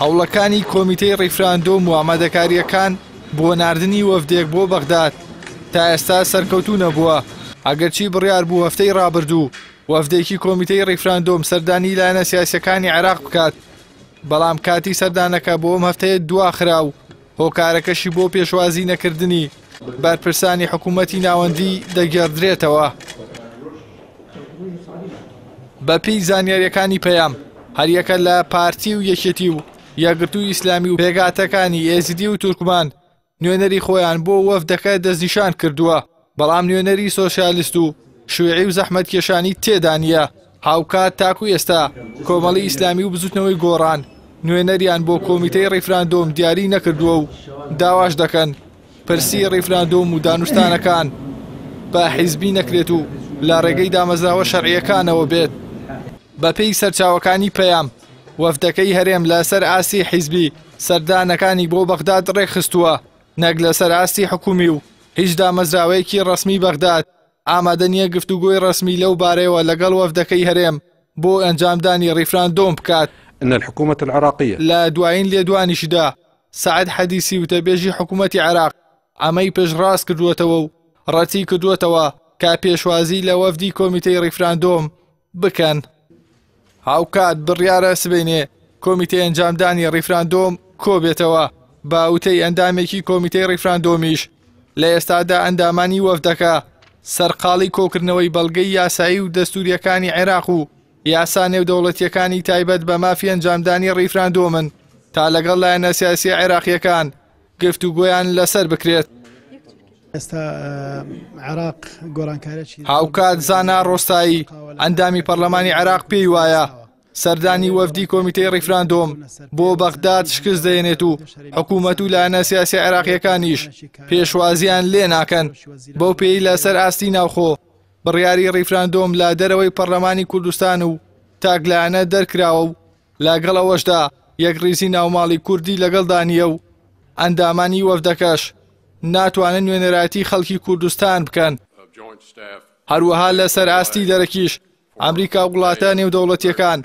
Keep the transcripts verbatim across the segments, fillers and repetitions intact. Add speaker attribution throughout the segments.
Speaker 1: هەوڵەکانی کۆمیتەی ڕیفراندۆم و ئامادەکارییەکان بۆ ناردنی وەفدێک بۆ بەغداد تا ئێستا سەرکەوتوو نەبووە. ئەگەرچی بڕیار بوو هەفتەی ڕابردوو وەفدێکی کۆمیتەی ڕیفراندۆم سەردانی لایەنە سیاسیەکانی عێراق بکات، بەڵام کاتی سەردانەکە بۆ ئەم هەفتەیە دواخرا و هۆکارەکەشی بۆ پێشوازی نەکردنی بەرپرسانی حکوومەتی ناوەندی دەگێڕدرێتەوە. بەپێی زانیاریەکانی پەیام، هەریەکە لە پارتی و یەکێتی و یەکگرتووی ئیسلامی و پێکهاتەکانی ئێزیدی و تورکمان نوێنەری خۆیان بۆ وەفدەکە دەستنیشان کردووە، بەڵام نوێنەری سۆسیالیست و شوێعی و زەحمەتکێشانی تێدا نییە. هاوکات تاکو ئێستا کۆمەڵی ئیسلامی و بزوتنەوەی گۆڕان نوێنەریان بۆ کۆمیتەی ڕیفراندۆم دیاری نەکردووە و داواش دەکەن پرسی ڕیفراندۆم و دانوستانەکان بە حیزبی نەکرێت و لە ڕێگەی دامەزراوە شەرعیەکانەوە بێت. بەپێی سەرچاوەکانی پەیام، وەفدەکەی هەرێم لەسەر ئاستی حیزبی سەردانەکانی بۆ بەغداد ڕێکخستووە، نەک لەسەر ئاستی حکومی و هیچ دامەزراوەیەکی ڕەسمی بەغداد ئامادە نییە گفتوگۆی ڕەسمی لەو بارەیەوە لەگەڵ وەفدەکەی هەرێم بۆ ئەنجامدانی ڕیفراندۆم بکات.
Speaker 2: ان الحكومة العراقية
Speaker 1: لە دوایین لێدوانیشدا سەعد حەدیسی وتەبێژی حکوومەتی عێراق ئەمەی پێشڕاست کردووەتەوە و ڕەتی کردووەتەوە کە پێشوازی لە وەفدی کۆمیتەی ڕیفراندۆم بکەن. هاوکات بڕیارە سبەینێ کۆمیتەی ئەنجامدانی ڕیفراندۆم کۆبێتەوە. بە وتەی ئەندامێکی کۆمیتەی ڕیفراندۆمیش لە ئێستادا ئەندامانی وەفدەکە سەرقاڵی کۆکردنەوەی بەڵگەی یاسایی و دەستوریەکانی عێراق و یاسا نێودەوڵەتیەکانی تایبەت بە مافی ئەنجامدانی ڕیفراندۆمن تا لەگەڵ لایەنە سیاسیە عێراقیەکان گفتوگۆیان لەسەر بکرێت.
Speaker 3: ئێستا عێراق گۆڕانکاریی.
Speaker 1: هاوکات زانا ڕۆستایی ئەندامی پەرلەمانی عێراق پێی وایە سەردانی وەفدی کۆمیتەی ڕیفراندۆم بۆ بەغداد شکست دەهێنێت و حکوومەت و لایەنە سیاسی عێراقیەکانیش پێشوازیان لێ ناکەن، بەو پێی لەسەر ئاستی ناوخۆ بڕیاری ڕیفراندۆم لە دەرەوەی پەرلەمانی کوردستان و تاکلایەنە دەرکراوە و لەگەڵ ئەوەشدا یەکڕیزی ناوماڵی کوردی لەگەڵدا نییە و ئەندامانی وەفدەکەش ناتوانن نوێنەرایەتی خەڵکی کوردستان بکەن. هەروەها لەسەر ئاستی دەرەکیش ئەمریکا و وڵاتە نێودەوڵەتیەکان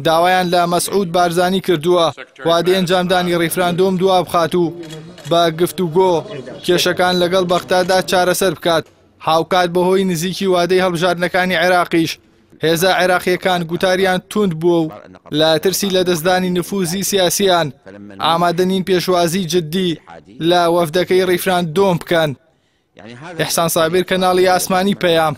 Speaker 1: داوایان لە مەسعود بارزانی کردووە وادەی ئەنجامدانی ڕیفراندۆم دوا بخات و بە گفتوگۆ کێشەکان لەگەڵ بەغدادا چارەسەر بکات. هاوکات بەهۆی نزیکی وادەی هەڵبژاردنەکانی عێراقیش هێزە عێراقیەکان گوتاریان توند بووە و لە ترسی لەدەستدانی نفوزی سیاسیان ئامادە نین پێشوازی جدی لە وەفدەکەی ڕیفراندۆم بکەن. ئیحسان سابیر، کەناڵی ئاسمانی پەیام.